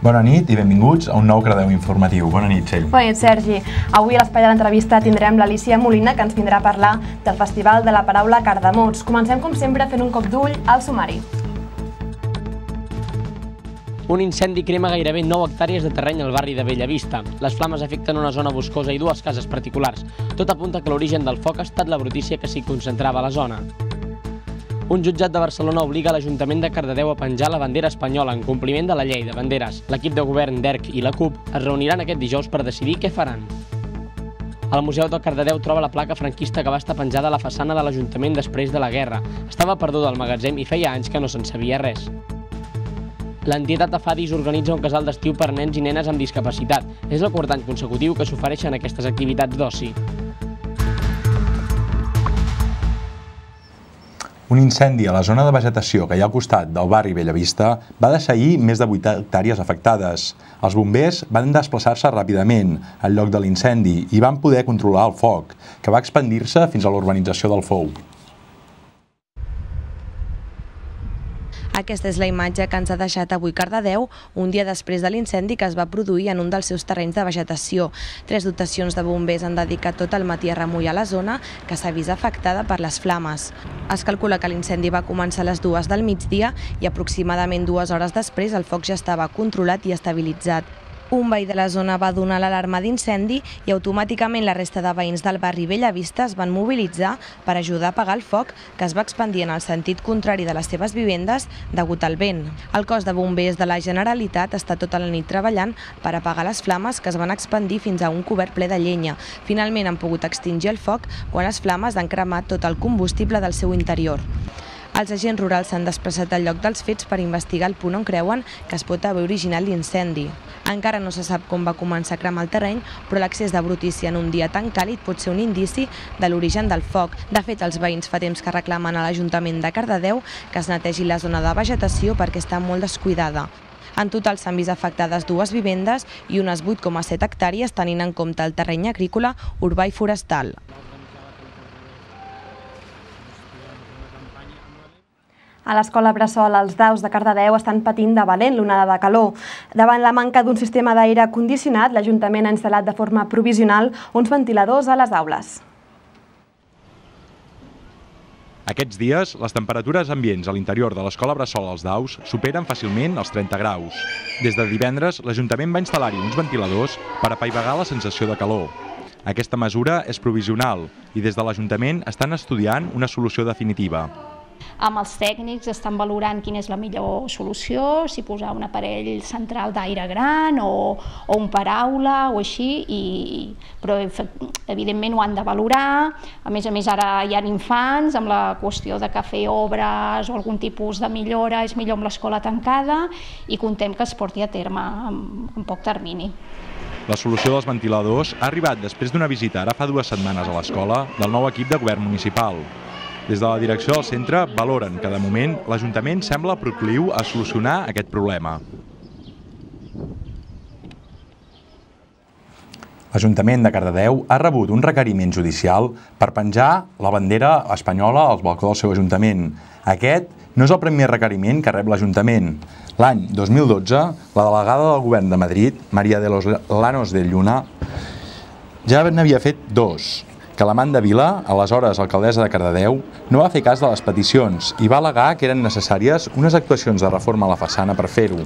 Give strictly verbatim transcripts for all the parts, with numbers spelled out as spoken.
Bona nit i benvinguts a un nou Cardedeu informatiu. Bona nit, Txell. Bona nit, Sergi. Avui a l'espai de l'entrevista tindrem l'Alícia Molina, que ens vindrà a parlar del Festival de la Paraula Cardamots. Comencem, com sempre, fent un cop d'ull al sumari. Un incendi crema gairebé nou hectàrees de terreny al barri de Bellavista. Les flames afecten una zona boscosa i dues cases particulars. Tot apunta que l'origen del foc ha estat la brutícia que s'hi concentrava a la zona. Un jutjat de Barcelona obliga l'Ajuntament de Cardedeu a penjar la bandera espanyola en compliment de la llei de banderes. L'equip de govern d'E R C i la CUP es reuniran aquest dijous per decidir què faran. El Museu de Cardedeu troba la placa franquista que va estar penjada a la façana de l'Ajuntament després de la guerra. Estava perduda al magatzem i feia anys que no se'n sabia res. L'entitat AFADIS organitza un casal d'estiu per nens i nenes amb discapacitat. És el quart any consecutiu que s'ofereixen aquestes activitats d'oci. Un incendi a la zona de vegetació que hi ha al costat del barri Bellavista va deixar ahir més de vuit hectàrees afectades. Els bombers van desplaçar-se ràpidament al lloc de l'incendi i van poder controlar el foc, que va expandir-se fins a l'urbanització del Fou. Aquesta és la imatge que ens ha deixat avui Cardedeu, un dia després de l'incendi que es va produir en un dels seus terrenys de vegetació. Tres dotacions de bombers han dedicat tot el matí a remullar la zona, que s'ha vist afectada per les flames. Es calcula que l'incendi va començar a les dues del migdia i aproximadament dues hores després el foc ja estava controlat i estabilitzat. Un veí de la zona va donar l'alarma d'incendi i automàticament la resta de veïns del barri Bellavista es van mobilitzar per ajudar a apagar el foc, que es va expandir en el sentit contrari de les seves vivendes degut al vent. El cos de bombers de la Generalitat està tota la nit treballant per apagar les flames que es van expandir fins a un cobert ple de llenya. Finalment han pogut extingir el foc quan les flames han cremat tot el combustible del seu interior. Els agents rurals s'han desplaçat al lloc dels fets per investigar el punt on creuen que es pot haver originat l'incendi. Encara no se sap com va començar a cremar el terreny, però l'accés de brutícia en un dia tan càlid pot ser un indici de l'origen del foc. De fet, els veïns fa temps que reclamen a l'Ajuntament de Cardedeu que es netegi la zona de vegetació perquè està molt descuidada. En total s'han vist afectades dues vivendes i unes vuit coma set hectàrees tenint en compte el terreny agrícola, urbà i forestal. A l'escola Bressol, els daus de Cardedeu estan patint de valent l'onada de calor. Davant la manca d'un sistema d'aire condicionat, l'Ajuntament ha instal·lat de forma provisional uns ventiladors a les aules. Aquests dies, les temperatures ambients a l'interior de l'escola Bressol als daus superen fàcilment els trenta graus. Des de divendres, l'Ajuntament va instal·lar-hi uns ventiladors per apaivagar la sensació de calor. Aquesta mesura és provisional i des de l'Ajuntament estan estudiant una solució definitiva. Amb els tècnics estan valorant quina és la millor solució, si posar un aparell central d'aire gran o, o un paraula o així, i, però evidentment ho han de valorar. A més a més ara hi ha infants amb la qüestió de que fer obres o algun tipus de millora és millor amb l'escola tancada i contem que es porti a terme en, en poc termini. La solució dels ventiladors ha arribat després d'una visita ara fa dues setmanes a l'escola del nou equip de govern municipal. Des de la direcció del centre valoren que de moment l'Ajuntament sembla procliu a solucionar aquest problema. L'Ajuntament de Cardedeu ha rebut un requeriment judicial per penjar la bandera espanyola al balcó del seu ajuntament. Aquest no és el primer requeriment que rep l'Ajuntament. L'any dos mil dotze, la delegada del govern de Madrid, María de los Llanos de Lluna, ja n'havia fet dos. Que l'Amanda Vila, aleshores alcaldessa de Cardedeu, no va fer cas de les peticions i va al·legar que eren necessàries unes actuacions de reforma a la façana per fer-ho.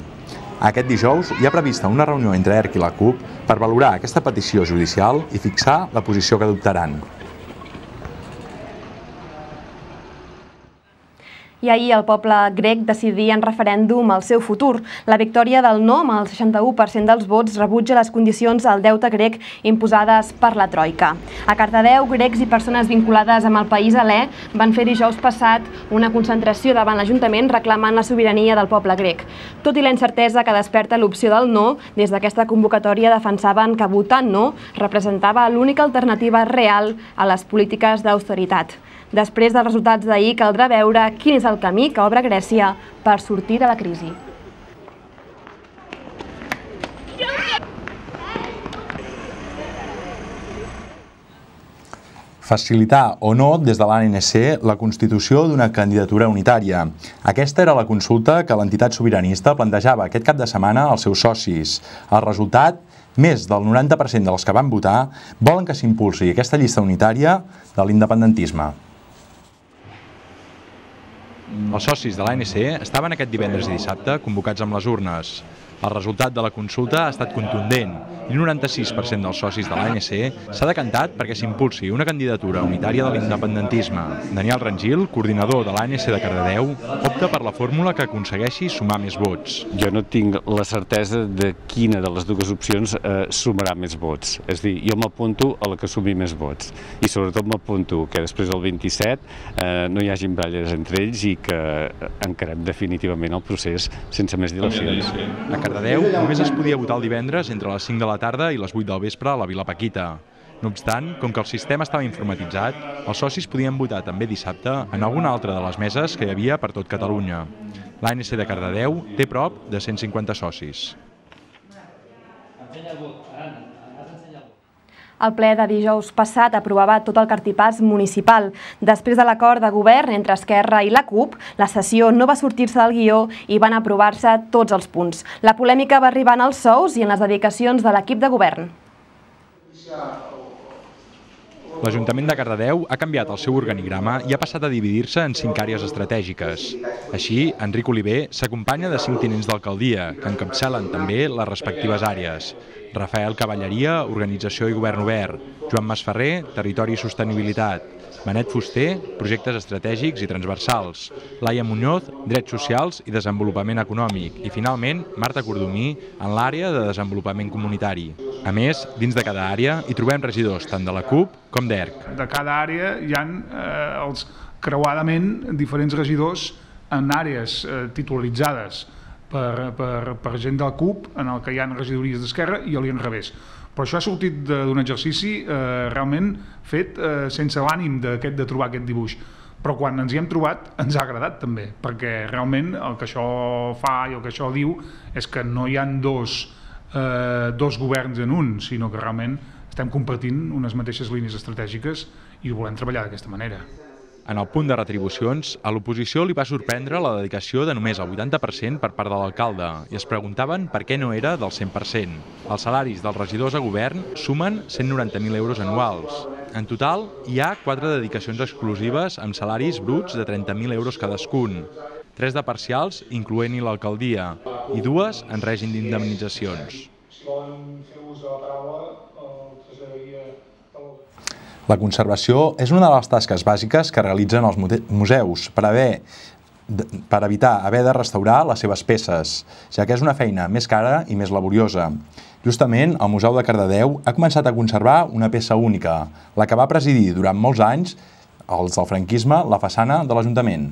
Aquest dijous hi ha prevista una reunió entre E R C i la CUP per valorar aquesta petició judicial i fixar la posició que adoptaran. I ahir el poble grec decidia en referèndum el seu futur. La victòria del no, amb el seixanta-u per cent dels vots, rebutja les condicions al deute grec imposades per la Troika. A Cardedeu, grecs i persones vinculades amb el país helè van fer dijous passat una concentració davant l'Ajuntament reclamant la sobirania del poble grec. Tot i la incertesa que desperta l'opció del no, des d'aquesta convocatòria defensaven que votar no representava l'única alternativa real a les polítiques d'austeritat. Després dels resultats d'ahir, caldrà veure quin és el camí que obre Grècia per sortir de la crisi. facilitar o no des de l'A N C la constitució d'una candidatura unitària. Aquesta era la consulta que l'entitat sobiranista plantejava aquest cap de setmana als seus socis. El resultat, més del noranta per cent dels que van votar volen que s'impulsi aquesta llista unitària de l'independentisme. Els socis de l'A N C estaven aquest divendres i dissabte convocats amb les urnes. El resultat de la consulta ha estat contundent i el noranta-sis per cent dels socis de l'A N C s'ha decantat perquè s'impulsi una candidatura unitària de l'independentisme. Daniel Rangil, coordinador de l'A N C de Cardedeu, opta per la fórmula que aconsegueixi sumar més vots. Jo no tinc la certesa de quina de les dues opcions eh, sumarà més vots. És a dir, jo m'apunto a la que sumi més vots i sobretot m'apunto que després del vint-i-set eh, no hi hagin baralles entre ells i que encarem definitivament el procés sense més dilacions. A Cardedeu només es podia votar el divendres entre les cinc de la tarda i les vuit del vespre a la Vila Paquita. No obstant, com que el sistema estava informatitzat, els socis podien votar també dissabte en alguna altra de les meses que hi havia per tot Catalunya. L'A N C de Cardedeu té prop de cent cinquanta socis. El ple de dijous passat aprovava tot el cartipàs municipal. Després de l'acord de govern entre Esquerra i la CUP, la sessió no va sortir-se del guió i van aprovar-se tots els punts. La polèmica va arribar en els sous i en les dedicacions de l'equip de govern. L'Ajuntament de Cardedeu ha canviat el seu organigrama i ha passat a dividir-se en cinc àrees estratègiques. Així, Enric Oliver s'acompanya de cinc tinents d'alcaldia, que encapçalen també les respectives àrees. Rafael Cavalleria, Organització i Govern Obert, Joan Masferrer, Territori i Sostenibilitat, Benet Fuster, Projectes Estratègics i Transversals, Laia Muñoz, Drets Socials i Desenvolupament Econòmic i, finalment, Marta Cordomí, en l'àrea de Desenvolupament Comunitari. A més, dins de cada àrea hi trobem regidors tant de la CUP com d'E R C. De cada àrea hi ha eh, els, creuadament diferents regidors en àrees eh, titularitzades per, per, per gent de la CUP, en el que hi ha regidories d'Esquerra i a l'inrevés. Però això ha sortit d'un exercici eh, realment fet eh, sense l'ànim de, de trobar aquest dibuix. Però quan ens hi hem trobat ens ha agradat també, perquè realment el que això fa i el que això diu és que no hi ha dos, eh, dos governs en un, sinó que realment estem compartint unes mateixes línies estratègiques i volem treballar d'aquesta manera. En el punt de retribucions, a l'oposició li va sorprendre la dedicació de només el vuitanta per cent per part de l'alcalde i es preguntaven per què no era del cent per cent. Els salaris dels regidors a govern sumen cent noranta mil euros anuals. En total, hi ha quatre dedicacions exclusives amb salaris bruts de trenta mil euros cadascun, tres de parcials, incloent-hi l'alcaldia, i dues en règim d'indemnitzacions. La conservació és una de les tasques bàsiques que realitzen els museus per, haver, per evitar haver de restaurar les seves peces, ja que és una feina més cara i més laboriosa. Justament, el Museu de Cardedeu ha començat a conservar una peça única, la que va presidir durant molts anys, els del franquisme, la façana de l'Ajuntament.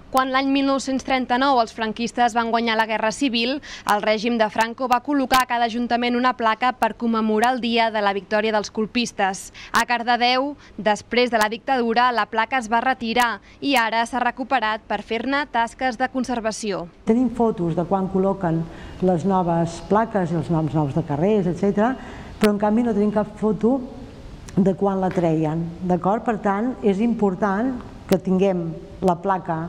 Quan l'any mil nou-cents trenta-nou els franquistes van guanyar la Guerra Civil, el règim de Franco va col·locar a cada ajuntament una placa per commemorar el dia de la victòria dels colpistes. A Cardedeu, després de la dictadura, la placa es va retirar i ara s'ha recuperat per fer-ne tasques de conservació. Tenim fotos de quan col·loquen les noves plaques i els noms nous de carrers, etcètera, però en canvi no tenim cap foto de quan la treien. D'acord? Per tant, és important que tinguem la placa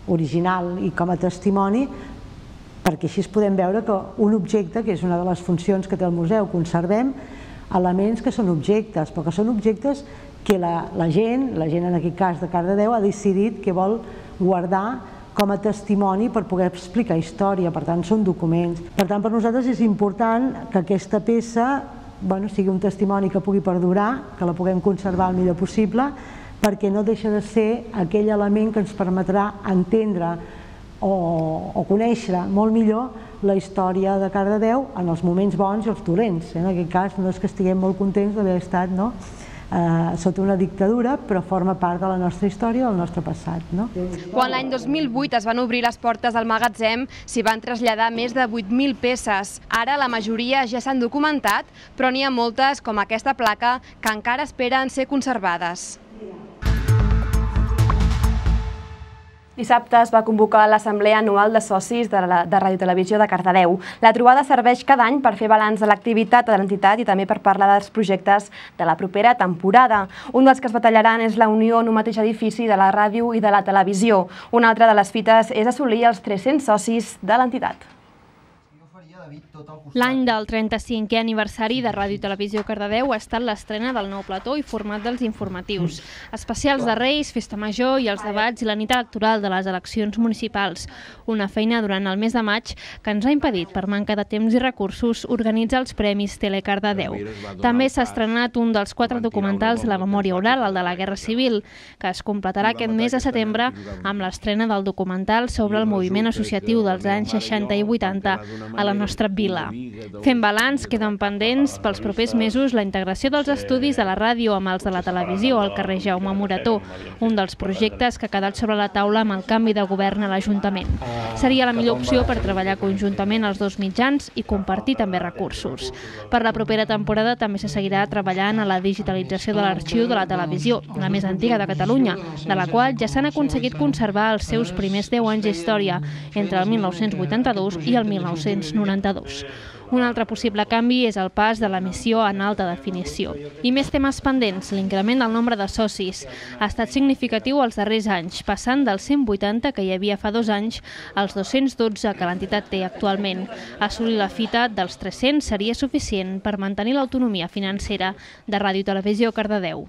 original i com a testimoni, perquè així podem veure que un objecte, que és una de les funcions que té el museu, conservem elements que són objectes, però que són objectes que la, la gent, la gent en aquest cas de Cardedeu, ha decidit que vol guardar com a testimoni per poder explicar història, per tant són documents. Per tant, per nosaltres és important que aquesta peça bueno, sigui un testimoni que pugui perdurar, que la puguem conservar el millor possible, perquè no deixa de ser aquell element que ens permetrà entendre o, o conèixer molt millor la història de Cardedeu en els moments bons i els dolents. En aquest cas no és que estiguem molt contents d'haver estat no? eh, sota una dictadura, però forma part de la nostra història, del nostre passat. No? Quan l'any dos mil vuit es van obrir les portes del magatzem, s'hi van traslladar més de vuit mil peces. Ara la majoria ja s'han documentat, però n'hi ha moltes, com aquesta placa, que encara esperen ser conservades. Dissabte es va convocar l'Assemblea Anual de Socis de, la, de Ràdio Televisió de Cardedeu. La trobada serveix cada any per fer balanç de l'activitat de l'entitat i també per parlar dels projectes de la propera temporada. Un dels que es batallaran és la unió en un mateix edifici de la ràdio i de la televisió. Una altra de les fites és assolir els tres-cents socis de l'entitat. L'any del trenta-cinquè aniversari de Ràdio Televisió Cardedeu ha estat l'estrena del nou plató i format dels informatius, especials de Reis, Festa Major i els debats i la nit electoral de les eleccions municipals. Una feina durant el mes de maig que ens ha impedit, per manca de temps i recursos, organitzar els Premis Telecardedeu. També s'ha estrenat un dels quatre documentals de la memòria oral, el de la Guerra Civil, que es completarà aquest mes de setembre amb l'estrena del documental sobre el moviment associatiu dels anys seixanta i vuitanta a la nostra vila. Fent balanç, queden pendents pels propers mesos la integració dels estudis de la ràdio amb els de la televisió al carrer Jaume Morató, un dels projectes que ha quedat sobre la taula amb el canvi de govern a l'Ajuntament. Seria la millor opció per treballar conjuntament els dos mitjans i compartir també recursos. Per la propera temporada també se seguirà treballant a la digitalització de l'arxiu de la televisió, la més antiga de Catalunya, de la qual ja s'han aconseguit conservar els seus primers deu anys d'història, entre el mil nou-cents vuitanta-dos i el mil nou-cents noranta-dos. Un altre possible canvi és el pas de l'emissió en alta definició. I més temes pendents, l'increment del nombre de socis. Ha estat significatiu els darrers anys, passant dels cent vuitanta que hi havia fa dos anys als dos-cents dotze que l'entitat té actualment. Assolir la fita dels tres-cents seria suficient per mantenir l'autonomia financera de Ràdio Televisió Cardedeu.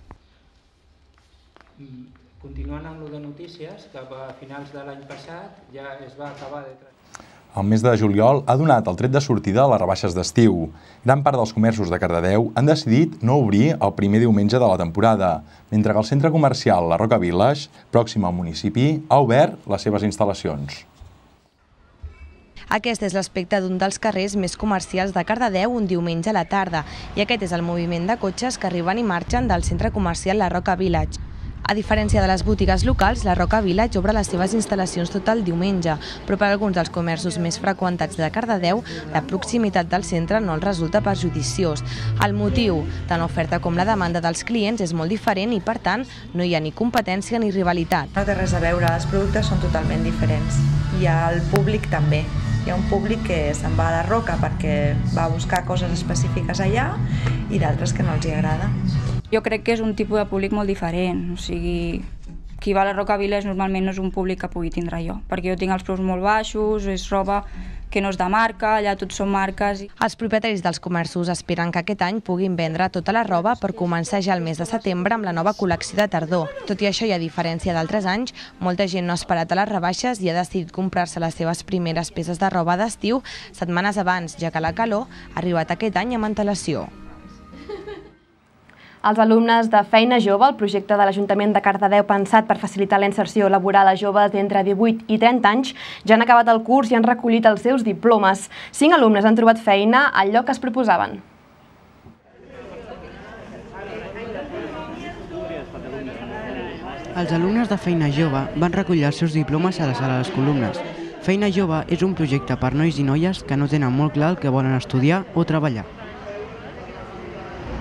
Continuant amb lo de notícies, cap a finals de l'any passat ja es va acabar de... El mes de juliol ha donat el tret de sortida a les rebaixes d'estiu. Gran part dels comerços de Cardedeu han decidit no obrir el primer diumenge de la temporada, mentre que el centre comercial La Roca Village, pròxim al municipi, ha obert les seves instal·lacions. Aquest és l'aspecte d'un dels carrers més comercials de Cardedeu un diumenge a la tarda, i aquest és el moviment de cotxes que arriben i marxen del centre comercial La Roca Village. A diferència de les botigues locals, la Roca Village obre les seves instal·lacions tot el diumenge, però per alguns dels comerços més freqüentats de Cardedeu, la proximitat del centre no els resulta perjudiciós. El motiu, tant l'oferta com la demanda dels clients és molt diferent i, per tant, no hi ha ni competència ni rivalitat. No té res a veure, els productes són totalment diferents i el públic també. Hi ha un públic que se'n va a la Roca perquè va buscar coses específiques allà i d'altres que no els hi agrada. Jo crec que és un tipus de públic molt diferent, o sigui, qui va a la Roca Village normalment no és un públic que pugui tindre jo, perquè jo tinc els preus molt baixos, és roba que no és de marca, allà tots són marques. Els propietaris dels comerços esperen que aquest any puguin vendre tota la roba per començar ja el mes de setembre amb la nova col·lecció de tardor. Tot i això, i a diferència d'altres anys, molta gent no ha esperat a les rebaixes i ha decidit comprar-se les seves primeres peces de roba d'estiu setmanes abans, ja que la calor ha arribat aquest any amb antelació. Els alumnes de Feina Jove, el projecte de l'Ajuntament de Cardedeu pensat per facilitar la inserció laboral a joves d'entre divuit i trenta anys, ja han acabat el curs i han recollit els seus diplomes. Cinc alumnes han trobat feina al lloc que es proposaven. Els alumnes de Feina Jove van recollir els seus diplomes a la sala de les columnes. Feina Jove és un projecte per nois i noies que no tenen molt clar el que volen estudiar o treballar.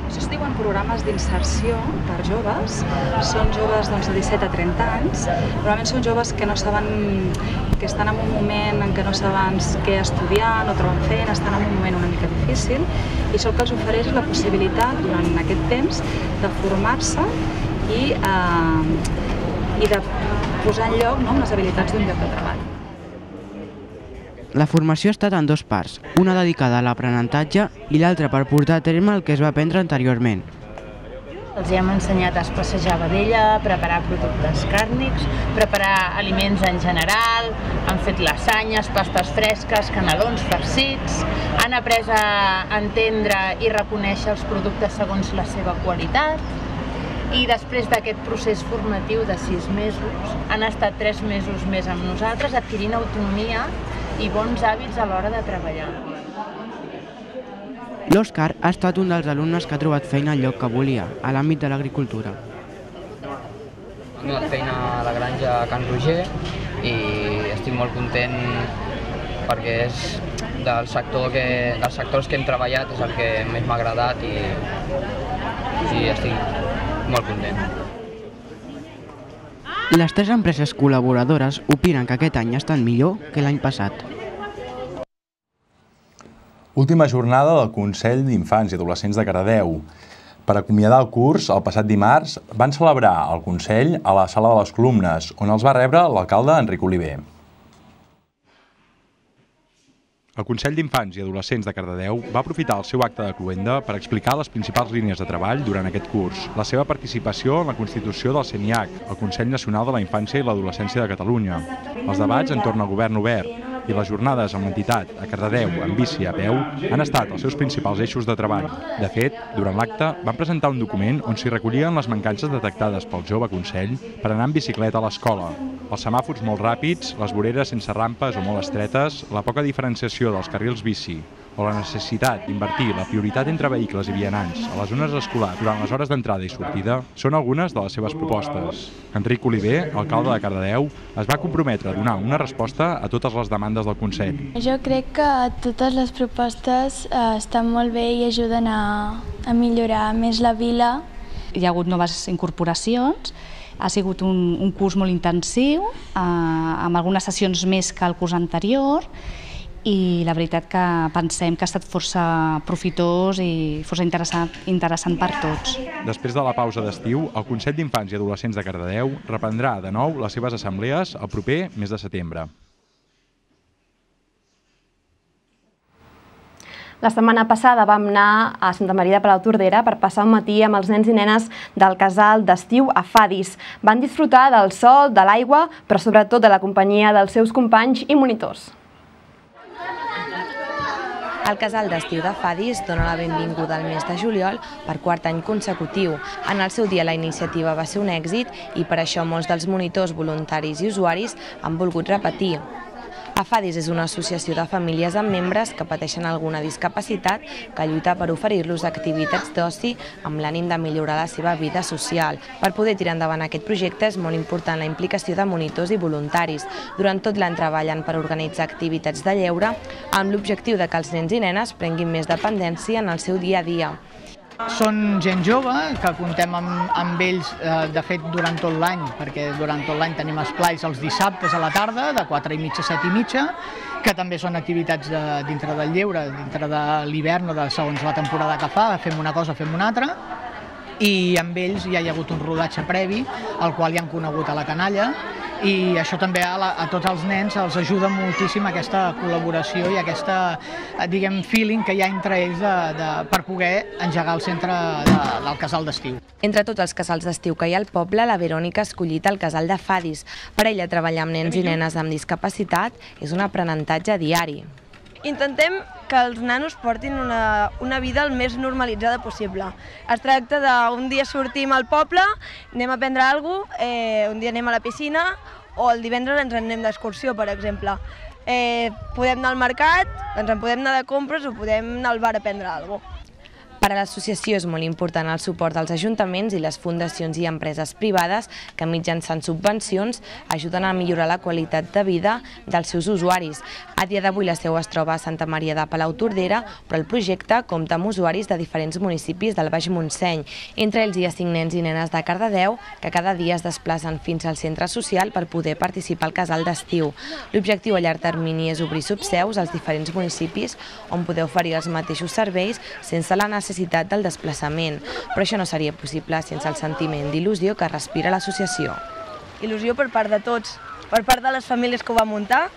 Això es diuen programes d'inserció per joves, són joves doncs, de disset a trenta anys, normalment són joves que no saben, que estan en un moment en què no saben què estudiar, no troben feina, estan en un moment una mica difícil, i això el que els ofereix és la possibilitat, durant aquest temps, de formar-se i, eh, i de posar en lloc no, les habilitats d'un lloc de treball. La formació ha estat en dos parts, una dedicada a l'aprenentatge i l'altra per portar a terme el que es va aprendre anteriorment. Els hem ensenyat a espassejar vedella, preparar productes càrnics, preparar aliments en general, han fet lasanyes, pastes fresques, canelons farcits, han après a entendre i reconèixer els productes segons la seva qualitat, i després d'aquest procés formatiu de sis mesos han estat tres mesos més amb nosaltres adquirint autonomia i bons hàbits a l'hora de treballar. L'Òscar ha estat un dels alumnes que ha trobat feina al lloc que volia, a l'àmbit de l'agricultura. He trobat feina a la granja a Can Roger i estic molt content perquè és del sector que, dels sectors que hem treballat és el que més m'ha agradat i, i estic molt content. Les tres empreses col·laboradores opinen que aquest any ha estat millor que l'any passat. Última jornada del Consell d'Infants i Adolescents de Cardedeu. Per acomiadar el curs, el passat dimarts, van celebrar el Consell a la Sala de les Columnes, on els va rebre l'alcalde Enric Oliver. El Consell d'Infants i Adolescents de Cardedeu va aprofitar el seu acte de cloenda per explicar les principals línies de treball durant aquest curs, la seva participació en la constitució del CENIAC, el Consell Nacional de la Infància i l'Adolescència de Catalunya, els debats entorn al govern obert i les jornades amb l'entitat a Cardedeu, en bici i a peu, han estat els seus principals eixos de treball. De fet, durant l'acte van presentar un document on s'hi recollien les mancances detectades pel jove Consell per anar en bicicleta a l'escola, els semàfors molt ràpids, les voreres sense rampes o molt estretes, la poca diferenciació dels carrils bici o la necessitat d'invertir la prioritat entre vehicles i vianants a les zones escolars durant les hores d'entrada i sortida són algunes de les seves propostes. Enric Oliver, alcalde de Cardedeu, es va comprometre a donar una resposta a totes les demandes del Consell. Jo crec que totes les propostes eh, estan molt bé i ajuden a, a millorar més la vila. Hi ha hagut noves incorporacions, ha sigut un, un curs molt intensiu, eh, amb algunes sessions més que el curs anterior, i la veritat que pensem que ha estat força profitós i força interessant, interessant per tots. Després de la pausa d'estiu, el Consell d'Infants i Adolescents de Cardedeu reprendrà de nou les seves assemblees el proper mes de setembre. La setmana passada vam anar a Santa Maria de Palautordera per passar un matí amb els nens i nenes del casal d'estiu a Fadis. Van disfrutar del sol, de l'aigua, però sobretot de la companyia dels seus companys i monitors. El casal d'estiu de Fadis dona la benvinguda al mes de juliol per quart any consecutiu. En el seu dia la iniciativa va ser un èxit i per això molts dels monitors, voluntaris i usuaris han volgut repetir. A Fadis és una associació de famílies amb membres que pateixen alguna discapacitat que lluita per oferir-los activitats d'oci amb l'ànim de millorar la seva vida social. Per poder tirar endavant aquest projecte és molt important la implicació de monitors i voluntaris. Durant tot l'any treballen per organitzar activitats de lleure amb l'objectiu de que els nens i nenes prenguin més dependència en el seu dia a dia. Són gent jove, que contem amb, amb ells, eh, de fet, durant tot l'any, perquè durant tot l'any tenim esplais els dissabtes a la tarda, de quatre i mitja a set i mitja, que també són activitats de, dintre del lleure, dintre de l'hivern o de segons la temporada que fa, fem una cosa, fem una altra, i amb ells ja hi ha hagut un rodatge previ, al qual ja han conegut a la canalla, i això també a, la, a tots els nens els ajuda moltíssim aquesta col·laboració i aquesta, diguem, feeling que hi ha entre ells de, de, per poder engegar el centre de, del casal d'estiu. Entre tots els casals d'estiu que hi ha al poble, la Verònica ha escollit el casal de Fadis. Per ella, treballar amb nens i nenes amb discapacitat és un aprenentatge diari. Intentem que els nanos portin una, una vida el més normalitzada possible. Es tracta d'un dia sortim al poble, anem a prendre alguna cosa, eh, un dia anem a la piscina o el divendres ens anem d'excursió, per exemple. Eh, podem anar al mercat, ens en podem anar de compres o podem anar al bar a prendre alguna cosa. Per a l'associació és molt important el suport dels ajuntaments i les fundacions i empreses privades que mitjançant subvencions ajuden a millorar la qualitat de vida dels seus usuaris. A dia d'avui la seu es troba a Santa Maria de Palautordera, però el projecte compta amb usuaris de diferents municipis del Baix Montseny. Entre ells hi ha cinc nens i nenes de Cardedeu que cada dia es desplacen fins al centre social per poder participar al casal d'estiu. L'objectiu a llarg termini és obrir subseus als diferents municipis on poder oferir els mateixos serveis sense la necessitat del desplaçament, però això no seria possible sense el sentiment d'il·lusió que respira l'associació. Il·lusió per part de tots, per part de les famílies que ho van muntar,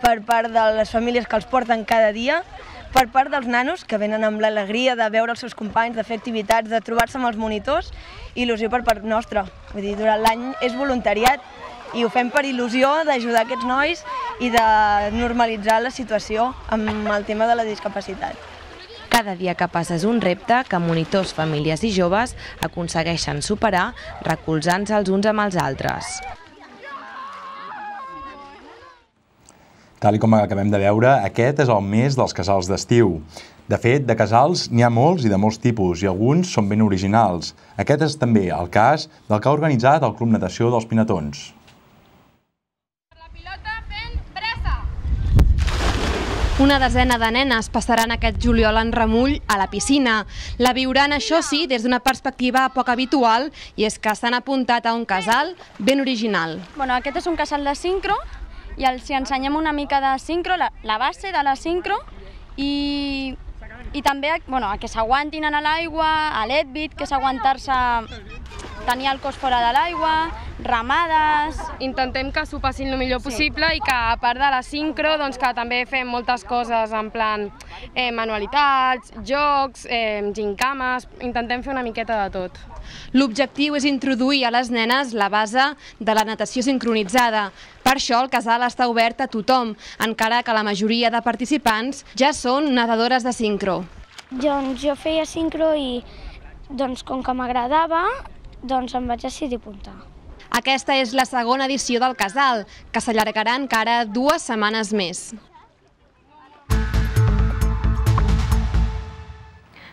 per part de les famílies que els porten cada dia, per part dels nanos que venen amb l'alegria de veure els seus companys, de fer activitats, de trobar-se amb els monitors, il·lusió per part nostra. Vull dir, durant l'any és voluntariat i ho fem per il·lusió d'ajudar aquests nois i de normalitzar la situació amb el tema de la discapacitat. Cada dia que passa és un repte que monitors, famílies i joves aconsegueixen superar recolzant-se els uns amb els altres. Tal com acabem de veure, aquest és el mes dels casals d'estiu. De fet, de casals n'hi ha molts i de molts tipus, i alguns són ben originals. Aquest és també el cas del que ha organitzat el Club Natació dels Pinatons. Una desena de nenes passaran aquest juliol en remull a la piscina. La viuran, això sí, des d'una perspectiva poc habitual, i és que s'han apuntat a un casal ben original. Bueno, aquest és un casal de sincro, i els ensenyem una mica de sincro, la, la base de la sincro, i, i també bueno, a que s'aguantin a l'aigua, a l'Edbit, que és aguantar-se, tenir el cos fora de l'aigua, ramades... Intentem que s'ho passin el millor possible i que, a part de la sincro, doncs, que també fem moltes coses en plan eh, manualitats, jocs, eh, gincames, intentem fer una miqueta de tot. L'objectiu és introduir a les nenes la base de la natació sincronitzada. Per això el casal està obert a tothom, encara que la majoria de participants ja són nedadores de sincro. Doncs jo feia sincro i doncs, com que m'agradava, doncs em vaig decidir apuntar. Aquesta és la segona edició del casal, que s'allargarà encara dues setmanes més.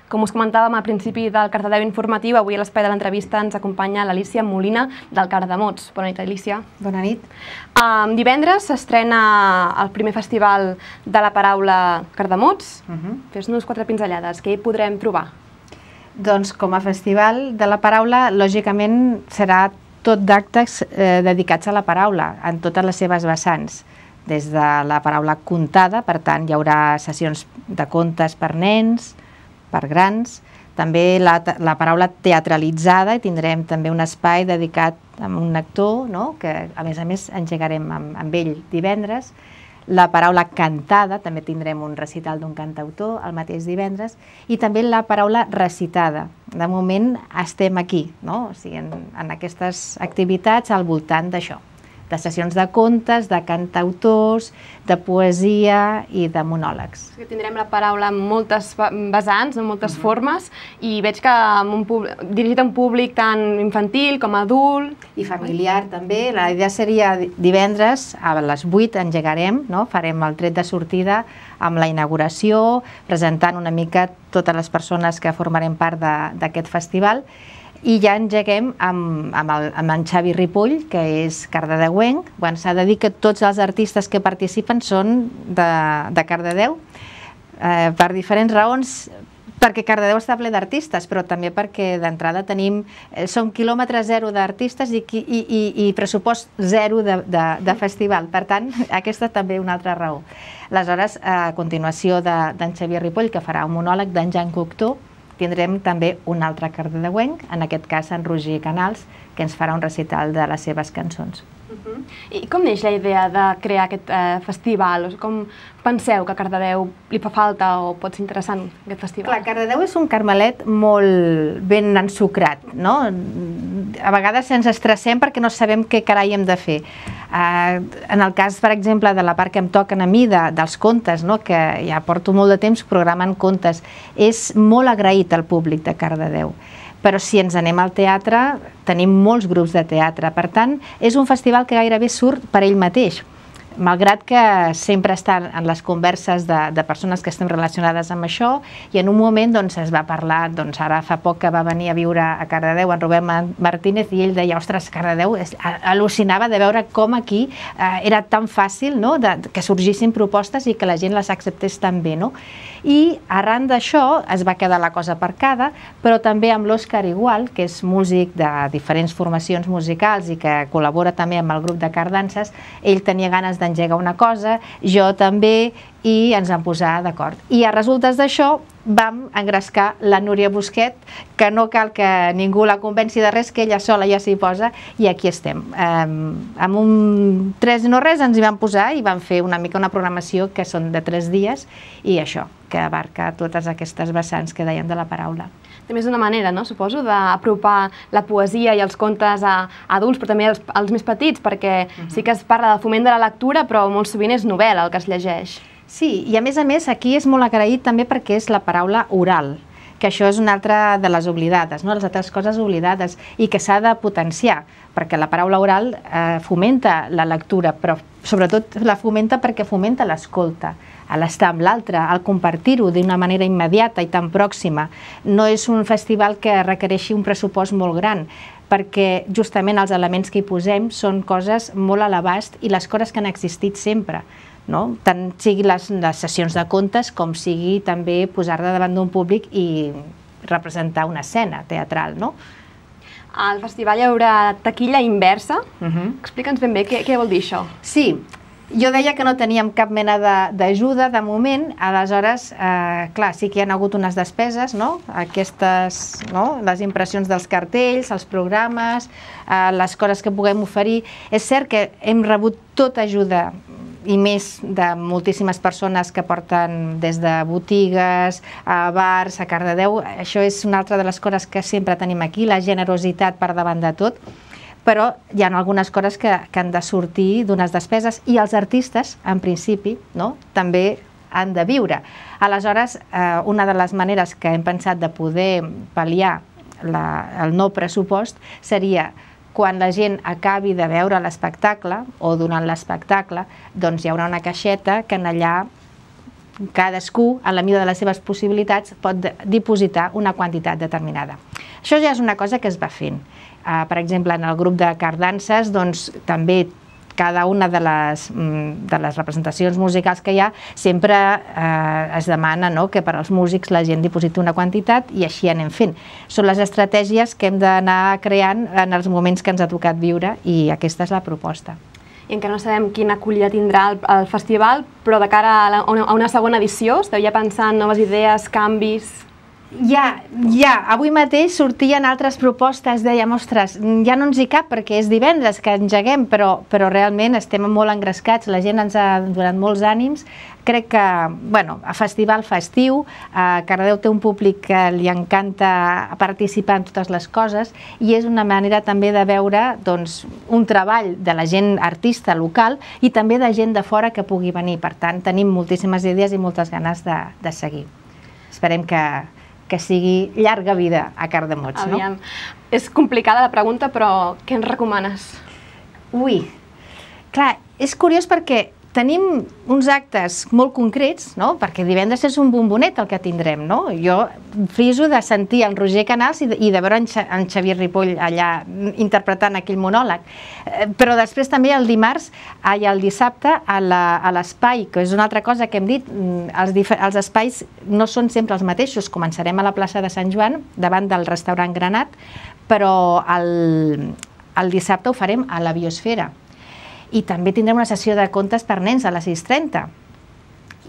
Com us comentàvem al principi del Cardedeu Informatiu, avui a l'espai de l'entrevista ens acompanya l'Alícia Molina del Cardamots. Bona nit, Alícia. Bona nit. Um, divendres s'estrena el primer festival de la paraula Cardamots. Uh-huh. Fes-nos quatre pinzellades, què hi podrem trobar? Doncs com a festival de la paraula, lògicament serà tot d'actes eh, dedicats a la paraula, en totes les seves vessants. Des de la paraula contada, per tant, hi haurà sessions de contes per nens, per grans, també la, la paraula teatralitzada, i tindrem també un espai dedicat a un actor, no? Que a més a més engegarem amb, amb ell divendres. La paraula cantada, també tindrem un recital d'un cantautor el mateix divendres, i també la paraula recitada. De moment estem aquí, no? O sigui, en, en aquestes activitats al voltant d'això, de sessions de contes, de cantautors, de poesia i de monòlegs. Tindrem la paraula en moltes vessants, en moltes formes, i veig que dirigit a un públic tant infantil com adult. I familiar també. La idea seria divendres a les vuit engegarem, no? Farem el tret de sortida amb la inauguració, presentant una mica totes les persones que formarem part d'aquest festival, i ja engeguem amb, amb, el, amb en Xavi Ripoll, que és cardedeuenc. Bueno, s'ha de dir que tots els artistes que participen són de, de Cardedeu, eh, per diferents raons, perquè Cardedeu està ple d'artistes, però també perquè d'entrada tenim, eh, som quilòmetre zero d'artistes i, i, i, i pressupost zero de, de, de festival. Per tant, aquesta també una altra raó. Aleshores, a continuació d'en de, Xavier Ripoll, que farà un monòleg d'en Jan Cocteau, tindrem també un altre cardedeuenc, en aquest cas en Roger Canals, que ens farà un recital de les seves cançons. Uh-huh. I com neix la idea de crear aquest eh, festival? Com penseu que a Cardedeu li fa falta o pot ser interessant aquest festival? Clar, Cardedeu és un carmelet molt ben ensucrat, no? A vegades ens estressem perquè no sabem què carai hem de fer. Uh, en el cas, per exemple, de la part que em toquen a mi, de, dels contes, no? Que ja porto molt de temps programant contes, és molt agraït al públic de Cardedeu. Però si ens anem al teatre, tenim molts grups de teatre. Per tant, és un festival que gairebé surt per ell mateix. Malgrat que sempre està en les converses de, de persones que estem relacionades amb això, i en un moment doncs, es va parlar, doncs, ara fa poc que va venir a viure a Cardedeu en Rubén Martínez, i ell deia, ostres, Cardedeu, al·lucinava de veure com aquí eh, era tan fàcil, no?, de, que sorgissin propostes i que la gent les acceptés tan bé, no? I arran d'això es va quedar la cosa aparcada, però també amb l'Òscar Igual, que és músic de diferents formacions musicals i que col·labora també amb el grup de Cardances, ell tenia ganes d'engegar una cosa, jo també, i ens vam posar d'acord. I a resultes d'això vam engrescar la Núria Busquet, que no cal que ningú la convenci de res, que ella sola ja s'hi posa, i aquí estem. Amb un tres no res ens hi vam posar i vam fer una mica una programació que són de tres dies, i això, que abarca totes aquestes vessants que dèiem de la paraula. També és una manera, no, suposo, d'apropar la poesia i els contes a adults, però també als, als més petits, perquè uh-huh. sí que es parla del foment de la lectura, però molt sovint és novel·la el que es llegeix. Sí, i a més a més aquí és molt agraït també perquè és la paraula oral, que això és una altra de les oblidades, no? Les altres coses oblidades, i que s'ha de potenciar, perquè la paraula oral eh, fomenta la lectura, però sobretot la fomenta perquè fomenta l'escolta, a l'estar amb l'altre, al compartir-ho d'una manera immediata i tan pròxima. No és un festival que requereixi un pressupost molt gran, perquè justament els elements que hi posem són coses molt a l'abast i les coses que han existit sempre, no? Tant sigui les, les sessions de contes com sigui també posar-te davant d'un públic i representar una escena teatral, no? Al festival hi haurà taquilla inversa. Uh-huh. Explica'ns ben bé què, què vol dir això. Sí, jo deia que no teníem cap mena d'ajuda de, de moment, aleshores, eh, clar, sí que hi ha hagut unes despeses, no? Aquestes, no? Les impressions dels cartells, els programes, eh, les coses que puguem oferir. És cert que hem rebut tota ajuda i més de moltíssimes persones que porten des de botigues, a bars, a Cardedeu. Això és una altra de les coses que sempre tenim aquí, la generositat per davant de tot. Però hi ha algunes coses que, que han de sortir d'unes despeses i els artistes, en principi, no? També han de viure. Aleshores, eh, una de les maneres que hem pensat de poder pal·liar la, el no pressupost seria quan la gent acabi de veure l'espectacle o durant l'espectacle, doncs hi haurà una caixeta que en allà cadascú, a la mida de les seves possibilitats, pot dipositar una quantitat determinada. Això ja és una cosa que es va fent. Uh, per exemple, en el grup de Cardances, doncs, també cada una de les, de les representacions musicals que hi ha sempre eh, es demana, no?, que per als músics la gent dipositi una quantitat i així anem fent. Són les estratègies que hem d'anar creant en els moments que ens ha tocat viure i aquesta és la proposta. I encara no sabem quina acollida tindrà el, el festival, però de cara a, la, a una segona edició, esteu ja pensant noves idees, canvis? Ja, ja, avui mateix sortien altres propostes, dèiem, ostres, ja no ens hi cap perquè és divendres que engeguem, però, però realment estem molt engrescats, la gent ens ha donat molts ànims. Crec que, bueno, a festival festiu, a Cardedeu té un públic que li encanta participar en totes les coses i és una manera també de veure, doncs, un treball de la gent artista local i també de gent de fora que pugui venir. Per tant, tenim moltíssimes idees i moltes ganes de, de seguir. Esperem que que sigui llarga vida a Cardemots, no? Aviam. És complicada la pregunta, però què ens recomanes? Ui, clar, és curiós perquè tenim uns actes molt concrets, no? Perquè divendres és un bombonet el que tindrem, no? Jo friso de sentir el Roger Canals i de, i de veure en, Xa, en Xavier Ripoll allà interpretant aquell monòleg. Eh, però després també el dimarts i el dissabte a l'espai, que és una altra cosa que hem dit, els, els espais no són sempre els mateixos. Començarem a la plaça de Sant Joan, davant del restaurant Granat, però el, el dissabte ho farem a la Biosfera. I també tindrem una sessió de contes per nens a les sis trenta.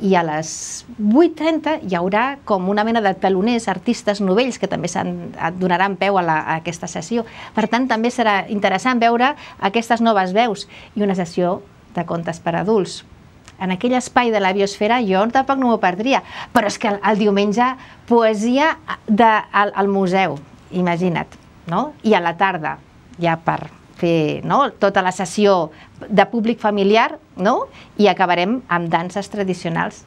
I a les vuit trenta hi haurà com una mena de teloners, artistes novells, que també donaran peu a, la, a aquesta sessió. Per tant, també serà interessant veure aquestes noves veus i una sessió de contes per adults. En aquell espai de la Biosfera jo tampoc no m'ho perdria, però és que el, el diumenge poesia de, al, al museu, imagina't, no? I a la tarda, ja per fer, no?, tota la sessió de públic familiar, no?, i acabarem amb danses tradicionals.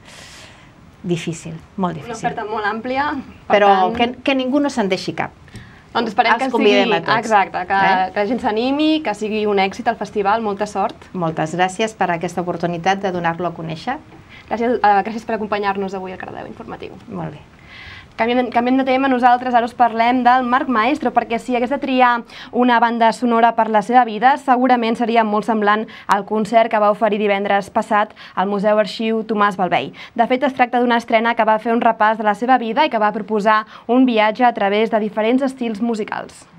Difícil, molt difícil. Una oferta molt àmplia. Però tant... que, que ningú no se'n deixi cap. Doncs esperem Els que convidem sigui... a tots. Exacte, que, eh? que la gent s'animi, que sigui un èxit al festival, molta sort. Moltes gràcies per aquesta oportunitat de donar-lo a conèixer. Gràcies, uh, gràcies per acompanyar-nos avui al Cardedeu Informatiu. Molt bé. Canviem, canviem de tema, nosaltres ara us parlem del Marc Maestro, perquè si hagués de triar una banda sonora per la seva vida, segurament seria molt semblant al concert que va oferir divendres passat al Museu Arxiu Tomàs Balvei. De fet, es tracta d'una estrena que va fer un repàs de la seva vida i que va proposar un viatge a través de diferents estils musicals.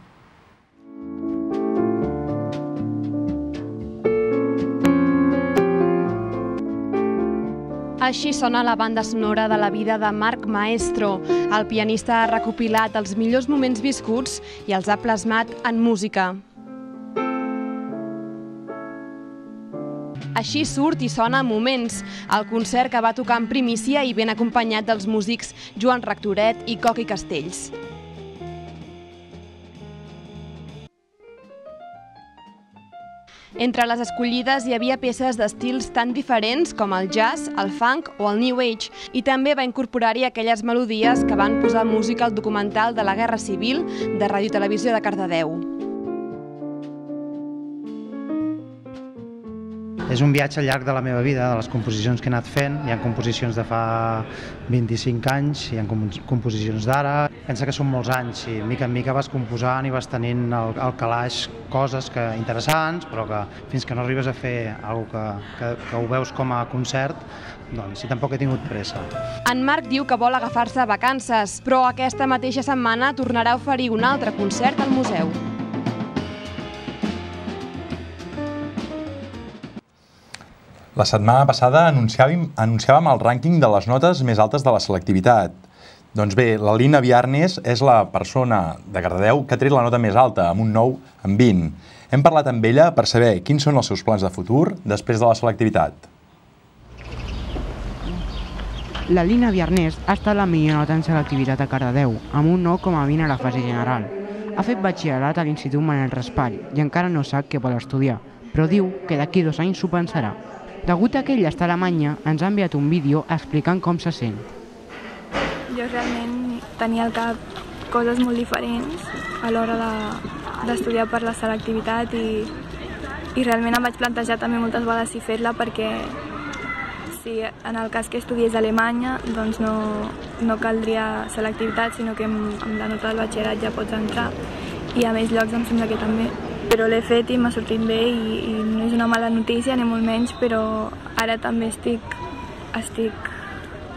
Així sona la banda sonora de la vida de Marc Maestro. El pianista ha recopilat els millors moments viscuts i els ha plasmat en música. Així surt i sona Moments, el concert que va tocar en primícia i ben acompanyat dels músics Joan Rectoret i Coqui Castells. Entre les escollides hi havia peces d'estils tan diferents com el jazz, el funk o el new age, i també va incorporar-hi aquelles melodies que van posar música al documental de la Guerra Civil de Ràdio Televisió de Cardedeu. És un viatge al llarg de la meva vida, de les composicions que he anat fent. Hi ha composicions de fa vint-i-cinc anys, hi ha composicions d'ara. Pensa que són molts anys i mica en mica vas composant i vas tenint al, al calaix coses que, interessants, però que fins que no arribes a fer alguna que, que, que ho veus com a concert, doncs sí, tampoc he tingut pressa. En Marc diu que vol agafar-se vacances, però aquesta mateixa setmana tornarà a oferir un altre concert al museu. La setmana passada anunciàvem, anunciàvem el rànquing de les notes més altes de la selectivitat. Doncs bé, la Lina Viarnes és la persona de Cardedeu que ha tret la nota més alta, amb un nou en vint. Hem parlat amb ella per saber quins són els seus plans de futur després de la selectivitat. La Lina Viarnes ha estat la millor nota en selectivitat a Cardedeu, amb un nou coma vint a la fase general. Ha fet batxillerat a l'Institut Manel Raspall i encara no sap què vol estudiar, però diu que d'aquí dos anys s'ho pensarà. Degut a que ella està a Alemanya, ens ha enviat un vídeo explicant com se sent. Jo realment tenia al cap coses molt diferents a l'hora d'estudiar per la selectivitat i, i realment em vaig plantejar també moltes vegades si fer-la perquè si en el cas que estudiés a Alemanya doncs no, no caldria selectivitat, sinó que amb, amb la nota del batxillerat ja pots entrar i a més llocs em sembla que també. Però l'he fet i m'ha sortit bé i, i no és una mala notícia ni molt menys, però ara també estic, estic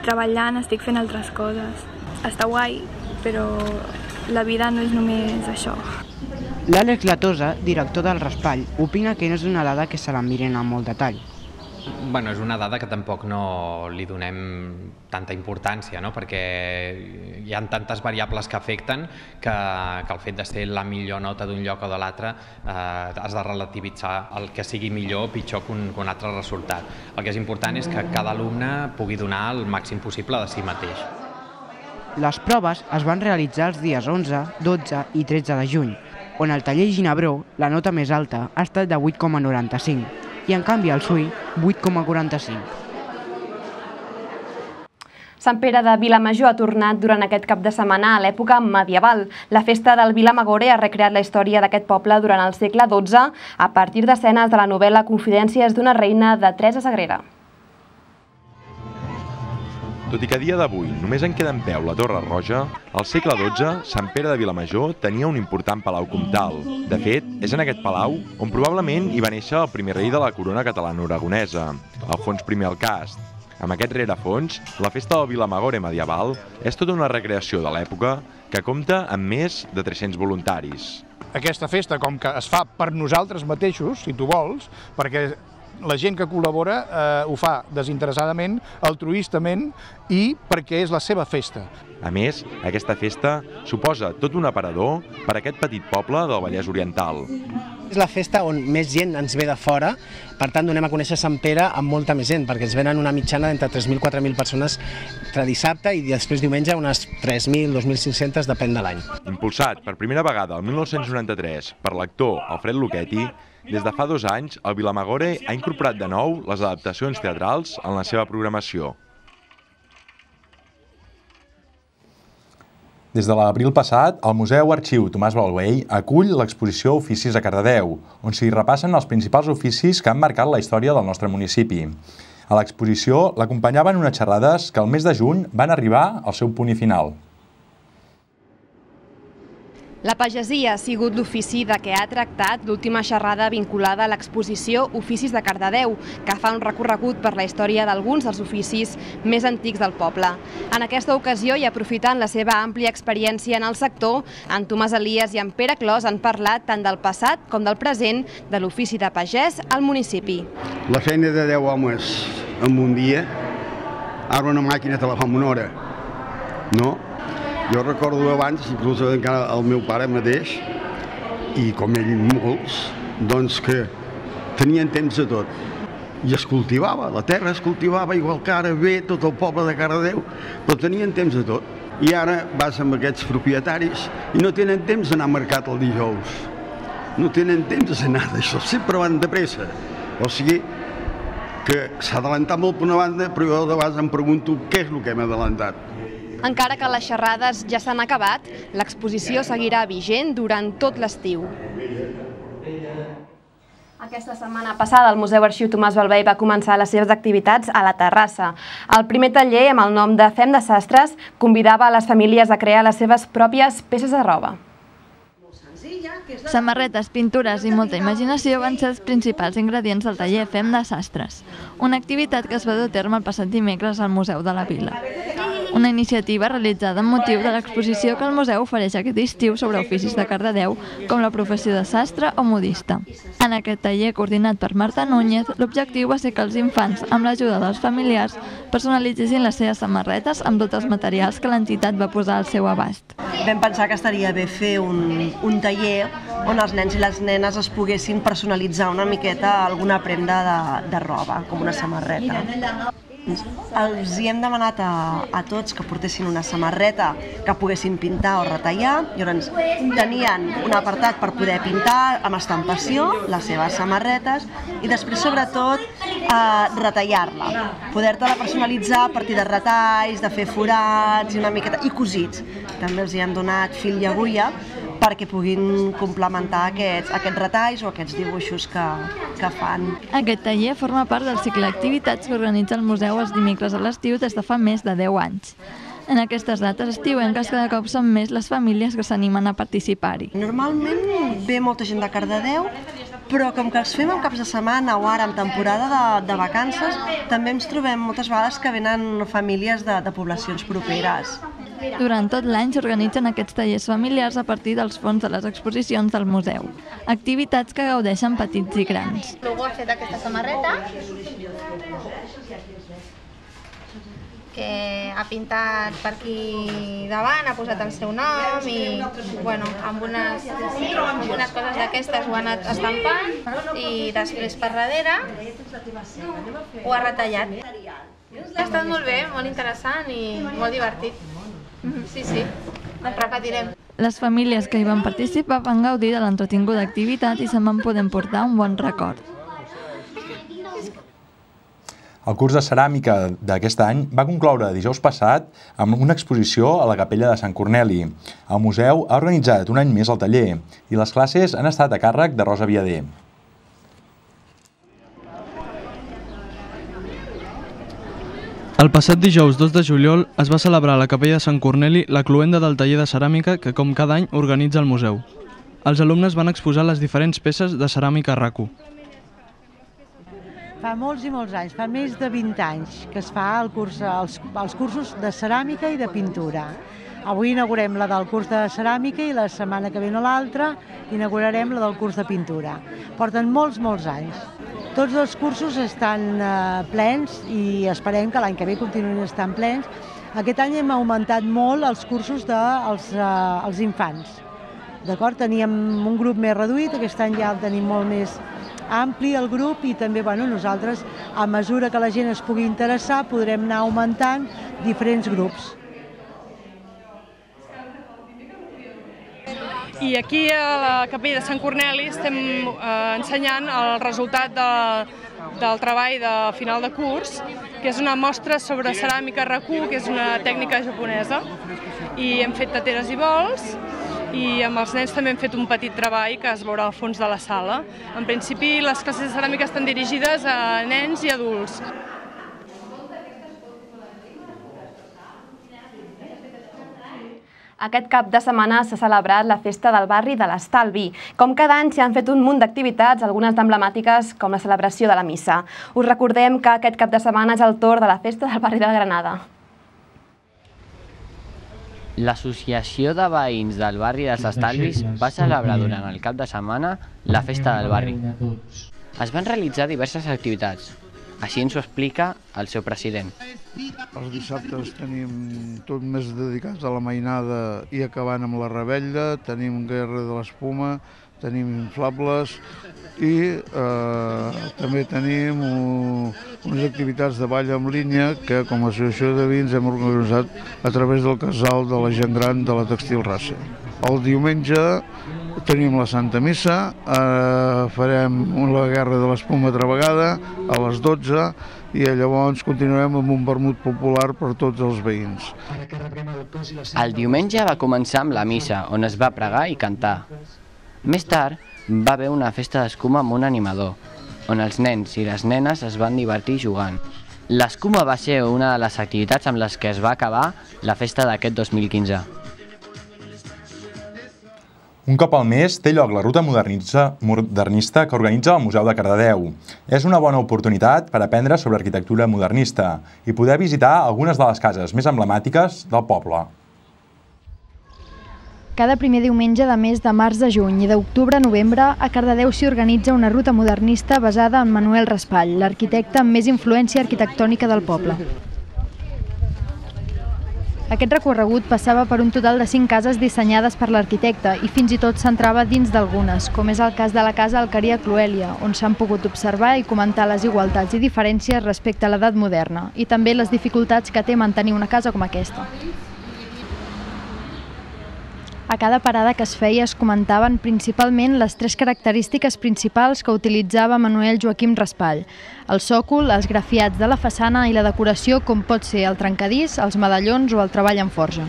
treballant, estic fent altres coses. Està guai, però la vida no és només això. L'Àlex Latosa, director del Raspall, opina que no és una dada que se la miren amb molt detall. Bueno, és una dada que tampoc no li donem tanta importància, no? Perquè hi ha tantes variables que afecten que, que el fet de ser la millor nota d'un lloc o de l'altre eh, has de relativitzar el que sigui millor o pitjor que un, que un altre resultat. El que és important és que cada alumne pugui donar el màxim possible de si mateix. Les proves es van realitzar els dies onze, dotze i tretze de juny, on al taller Ginebró la nota més alta ha estat de vuit coma noranta-cinc i en canvi al S U I vuit coma quaranta-cinc. Sant Pere de Vilamajor ha tornat durant aquest cap de setmana a l'època medieval. La festa del Vilamagore ha recreat la història d'aquest poble durant el segle dotze a partir d'escenes de la novel·la Confidències d'una reina de Teresa Sagrera. Tot i que a dia d'avui només en queda en peu la Torre Roja, al segle dotze, Sant Pere de Vilamajor tenia un important palau comtal. De fet, és en aquest palau on probablement hi va néixer el primer rei de la corona catalano-aragonesa, Alfons primer el Cast. Amb aquest rerefons, la festa del Vilamagore medieval és tota una recreació de l'època que compta amb més de tres-cents voluntaris. Aquesta festa, com que es fa per nosaltres mateixos, si tu vols, perquè la gent que col·labora eh, ho fa desinteressadament, altruistament i perquè és la seva festa. A més, aquesta festa suposa tot un aparador per a aquest petit poble del Vallès Oriental. És la festa on més gent ens ve de fora, per tant donem a conèixer Sant Pere amb molta més gent, perquè ens venen una mitjana d'entre tres mil a quatre mil persones entre dissabte i després diumenge unes tres mil a dos mil cinc-centes, depèn de l'any. Impulsat per primera vegada el mil nou-cents noranta-tres per l'actor Alfred Lucchetti, des de fa dos anys el Vilamagore ha incorporat de nou les adaptacions teatrals en la seva programació. Des de l'abril passat, el Museu Arxiu Tomàs Balaguer acull l'exposició Oficis a Cardedeu, on s'hi repassen els principals oficis que han marcat la història del nostre municipi. A l'exposició l'acompanyaven unes xerrades que el mes de juny van arribar al seu punt i final. La pagesia ha sigut l'ofici de què ha tractat l'última xerrada vinculada a l'exposició Oficis de Cardedeu, que fa un recorregut per la història d'alguns dels oficis més antics del poble. En aquesta ocasió, i aprofitant la seva àmplia experiència en el sector, en Tomàs Elias i en Pere Clos han parlat tant del passat com del present de l'ofici de pagès al municipi. La feina de deu homes en un dia, ara una màquina te la fa en una hora, no? Jo recordo abans, inclús encara el meu pare mateix, i com ell molts, doncs que tenien temps de tot. I es cultivava, la terra es cultivava igual que ara ve tot el poble de Cardedeu, però tenien temps de tot. I ara vas amb aquests propietaris i no tenen temps d'anar a mercat el dijous. No tenen temps d'anar d'això, sempre van de pressa. O sigui que s'ha adelantat molt per una banda, però jo de vegades em pregunto què és el que hem adelantat. Encara que les xerrades ja s'han acabat, l'exposició seguirà vigent durant tot l'estiu. Aquesta setmana passada el Museu Arxiu Tomàs Balvei va començar les seves activitats a la terrassa. El primer taller, amb el nom de Fem de Sastres, convidava a les famílies a crear les seves pròpies peces de roba. Samarretes, pintures i molta imaginació van ser els principals ingredients del taller Fem de Sastres, una activitat que es va dur a terme el passat dimecres al Museu de la Vila. Una iniciativa realitzada amb motiu de l'exposició que el museu ofereix aquest estiu sobre oficis de Cardedeu, com la professió de sastre o modista. En aquest taller, coordinat per Marta Núñez, l'objectiu va ser que els infants, amb l'ajuda dels familiars, personalitzessin les seves samarretes amb tots els materials que l'entitat va posar al seu abast. Vam pensar que estaria bé fer un, un taller on els nens i les nenes es poguessin personalitzar una miqueta alguna prenda de, de roba, com una samarreta. Els hi hem demanat a, a tots que portessin una samarreta que poguessin pintar o retallar. Llavors tenien un apartat per poder pintar amb estampació les seves samarretes i després sobretot eh, retallar-la, poder-te-la personalitzar a partir de retalls, de fer forats i una miqueta i cosits. També els hi hem donat fil i agulla perquè puguin complementar aquests, aquests retalls o aquests dibuixos que, que fan. Aquest taller forma part del cicle d'activitats que organitza el museu els dimecres a l'estiu des de fa més de deu anys. En aquestes dates estiuenques cada cop són més les famílies que s'animen a participar-hi. Normalment ve molta gent de Cardedeu, però com que els fem en caps de setmana o ara en temporada de, de vacances, també ens trobem moltes vegades que venen famílies de, de poblacions properes. Durant tot l'any s'organitzen aquests tallers familiars a partir dels fons de les exposicions del museu, activitats que gaudeixen petits i grans. Luego ha fet aquesta samarreta, que ha pintat per aquí davant, ha posat el seu nom i bueno, amb unes, amb unes coses d'aquestes ho ha anat estampant i després per darrere ho ha retallat. Ha estat molt bé, molt interessant i molt divertit. Sí, sí, repetirem. Les famílies que hi van participar van gaudir de l'entretinguda activitat i se'n van poder emportar un bon record. El curs de ceràmica d'aquest any va concloure dijous passat amb una exposició a la capella de Sant Corneli. El museu ha organitzat un any més el taller i les classes han estat a càrrec de Rosa Viader. El passat dijous dos de juliol es va celebrar a la capella de Sant Corneli la cloenda del taller de ceràmica que, com cada any, organitza el museu. Els alumnes van exposar les diferents peces de ceràmica RACU. Fa molts i molts anys, fa més de vint anys, que es fa el curs, els, els cursos de ceràmica i de pintura. Avui inaugurem la del curs de ceràmica i la setmana que ve o l'altra inaugurarem la del curs de pintura. Porten molts, molts anys. Tots els cursos estan eh, plens i esperem que l'any que ve continuïn estant plens. Aquest any hem augmentat molt els cursos dels de, eh, els infants. D'acord? Teníem un grup més reduït, aquest any ja el tenim molt més ampli el grup i també bueno, nosaltres, a mesura que la gent es pugui interessar, podrem anar augmentant diferents grups. I aquí a la capella de Sant Corneli estem eh, ensenyant el resultat de, del treball de final de curs, que és una mostra sobre ceràmica RACU, que és una tècnica japonesa. I hem fet teteres i bols, i amb els nens també hem fet un petit treball que es veurà al fons de la sala. En principi, les classes de ceràmica estan dirigides a nens i adults. Aquest cap de setmana s'ha celebrat la Festa del Barri de l'Estalvi. Com cada any s'hi han fet un munt d'activitats, algunes emblemàtiques com la celebració de la missa. Us recordem que aquest cap de setmana és el torn de la Festa del Barri de Granada. L'Associació de Veïns del Barri dels Estalvis va celebrar durant el cap de setmana la Festa del Barri. Es van realitzar diverses activitats. Així ens ho explica el seu president. Els dissabtes tenim tot més dedicats a la mainada i acabant amb la rebella, tenim guerra de l'espuma, tenim inflables i eh, també tenim uh, unes activitats de ball en línia que com a associació de veïns hem organitzat a través del casal de la gent gran de la Textil Raça. El diumenge tenim la Santa Missa, eh, farem la guerra de l'espuma altra vegada a les dotze i llavors continuarem amb un vermut popular per tots els veïns. El diumenge va començar amb la missa, on es va pregar i cantar. Més tard, va haver una festa d'escuma amb un animador, on els nens i les nenes es van divertir jugant. L'escuma va ser una de les activitats amb les que es va acabar la festa d'aquest dos mil quinze. Un cop al mes té lloc la ruta modernista que organitza el Museu de Cardedeu. És una bona oportunitat per aprendre sobre arquitectura modernista i poder visitar algunes de les cases més emblemàtiques del poble. Cada primer diumenge de mes de març a juny i d'octubre a novembre, a Cardedeu s'hi organitza una ruta modernista basada en Manuel Raspall, l'arquitecte amb més influència arquitectònica del poble. Aquest recorregut passava per un total de cinc cases dissenyades per l'arquitecte i fins i tot s'entrava dins d'algunes, com és el cas de la casa Alqueria Cloèlia, on s'han pogut observar i comentar les igualtats i diferències respecte a l'edat moderna i també les dificultats que té mantenir una casa com aquesta. A cada parada que es feia es comentaven principalment les tres característiques principals que utilitzava Manuel Joaquim Raspall: el sòcol, els grafiats de la façana i la decoració com pot ser el trencadís, els medallons o el treball en forja.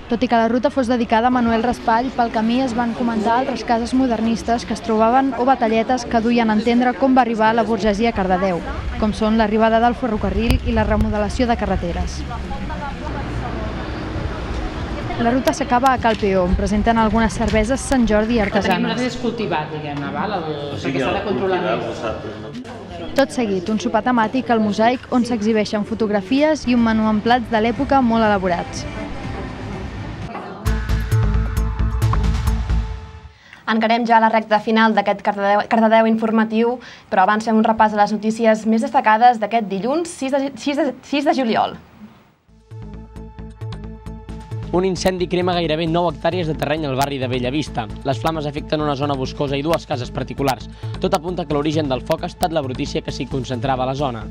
Tot i que la ruta fos dedicada a Manuel Raspall, pel camí es van comentar altres cases modernistes que es trobaven o batalletes que duien a entendre com va arribar la burgesia a Cardedeu, com són l'arribada del ferrocarril i la remodelació de carreteres. La ruta s'acaba a Cal Peó, on presenten algunes cerveses Sant Jordi artesanes. Nosaltres és cultivat, diguem-ne, perquè s'ha de controlar més. Tot seguit, un sopar temàtic al Mosaic on s'exhibeixen fotografies i un menú amb plats de l'època molt elaborats. Encarem ja la recta final d'aquest Cardedeu, Cardedeu informatiu, però abans fem un repàs a les notícies més destacades d'aquest dilluns sis de juliol. Un incendi crema gairebé nou hectàrees de terreny al barri de Bellavista. Les flames afecten una zona boscosa i dues cases particulars. Tot apunta que l'origen del foc ha estat la brutícia que s'hi concentrava a la zona.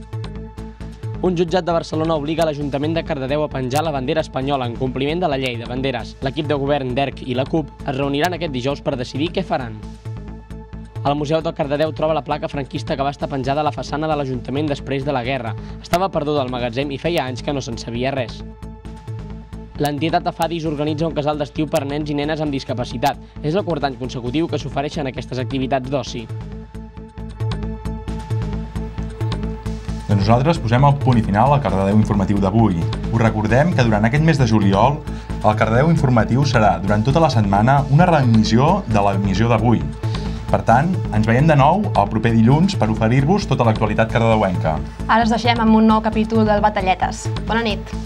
Un jutjat de Barcelona obliga l'Ajuntament de Cardedeu a penjar la bandera espanyola en compliment de la llei de banderes. L'equip de govern d'E R C i la CUP es reuniran aquest dijous per decidir què faran. El Museu de Cardedeu troba la placa franquista que va estar penjada a la façana de l'Ajuntament després de la guerra. Estava perduda al magatzem i feia anys que no se'n sabia res. L'entitat Afadis organitza un casal d'estiu per nens i nenes amb discapacitat. És el quart any consecutiu que s'ofereixen aquestes activitats d'oci. Doncs nosaltres posem el punt i final al Cardedeu informatiu d'avui. Us recordem que durant aquest mes de juliol el Cardedeu informatiu serà durant tota la setmana una reemissió de l'emissió d'avui. Per tant, ens veiem de nou el proper dilluns per oferir-vos tota l'actualitat cardedeuenca. Ara us deixem amb un nou capítol del Batalletes. Bona nit!